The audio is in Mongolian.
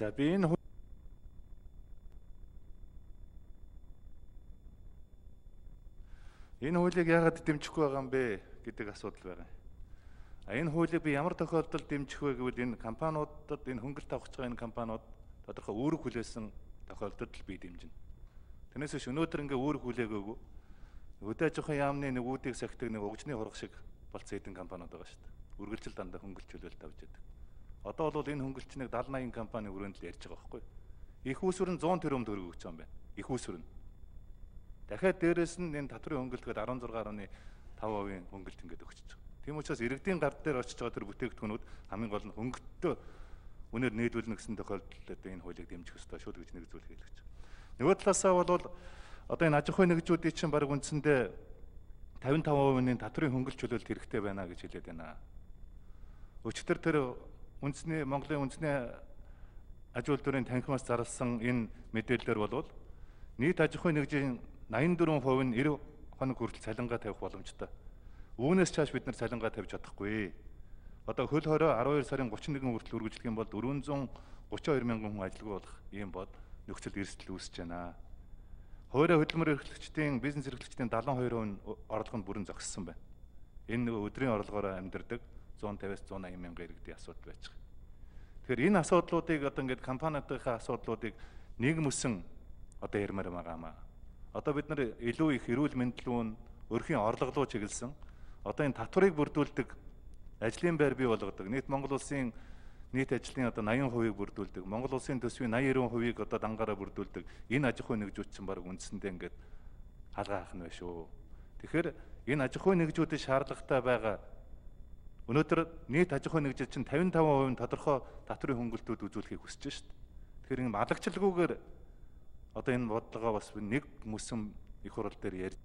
За би энэ хуулийг яагаад дэмжихгүй байгаа юм бэ гэдэг асуудал байгаа. Энэ хуулийг би ямар тохиолдолд дэмжих вэ гэвэл энэ компаниудад энэ хөнгөлт авах гэж байгаа энэ компаниуд тодорхой үүрэг хүлээсэн тохиолдолд л би дэмжинэ. Тэрнээс биш өнөөдөр ингээ үүрэг хүлээгөөгүй өдөө жоохон яамны нөгүүдийг сахидаг нэг угжны хурах шиг болцсон хэдэн компаниуд байгаа шүү дээ. Үргэлжил дандаа хөнгөлт чөлөөлт авч яадаг. Одоо бол энэ хөнгөлчнийг 70-80 компани өрөөнд л ярьж байгаа байхгүй. Их усүр нь 100 тэрбум төгрөг өгч байгаа юм байна. Их усүр нь. Дахиад дээрэс нь энэ татврын хөнгөлтгээд 16.5% хөнгөлт ингээд өгч байгаа. Тийм учраас иргэдийн гар дээр очиж байгаа тэр бүтээгдэхүүнүүд хамгийн гол нь хөнгөлтөө үнээр нээдүүлнэ гэсэн тохиолдолд энэ хуулийг дэмжих ёстой шүү гэж нэгзүүл хэлж байгаа. Нөгөө талаасаа бол одоо энэ аж ахуйн нэгжүүдийн чинь баг үндсэндээ 55%-ийн татврын хөнгөлт чөлөөлт хэрэгтэй байна гэж хэлээд байна. Өчигдөр тэр Монголын үндэсний аж үйлдвэрийн танхимаас зарласан энэ мэдээлэлээр бол нийт аж ахуйн нэгжийн 84% нь 90 хоног хүртэл цалингаа тавих боломжтой. Үүнээс цааш бид нар цалингаа тавьж чадахгүй. Одоо хөл хорой 12 сарын 31 хүртэл үргэлжлэх юм бол 432 мянган хүн ажилгүй болох ийм бод нөхцөл эрсдэл үүсэж байна. Хойроо хөдөлмөр эрхлэгчдийн бизнес эрхлэгчдийн 72% нь орлого нь бүрэн зогссон байна. Энэ нөгөө өдрийн орлогоор амьдардаг 150-аас 180 мянган иргэдийн асуудал байж байгаа. Тэгэхээр энэ асуудлуудыг одоо ингээд компаниудынхаа асуудлуудыг нийгэмсэн одоо ярмаар байгаамаа. Одоо бид нар илүү их эрүүл мэндэлүүн өрхийн орлого руу чиглэсэн. Одоо энэ татварыг бүрдүүлдэг ажлын байр бий болгодог. Нийт Монгол улсын нийт ажлын одоо 80%-ийг бүрдүүлдэг. Монгол улсын төсвийн 80-90%-ийг одоо дангаараа бүрдүүлдэг. Энэ аж ахуйн нэгжүүд чинь баг үндсэндээ ингээд халгаа ахна байх шүү. Тэгэхээр энэ аж ахуйн нэгжүүдийн шаардлагатай байгаа өнөөдөр нийт аж ахуйн нэгжид чинь 55% тодорхой татврын хөнгөлтүүд үзүүлэхийг хүсэж шүү дээ. Тэгэхээр энэ малагчлалгүйгээр одоо энэ бодлогоо бас нэг мөсөн их хурал дээр ярьж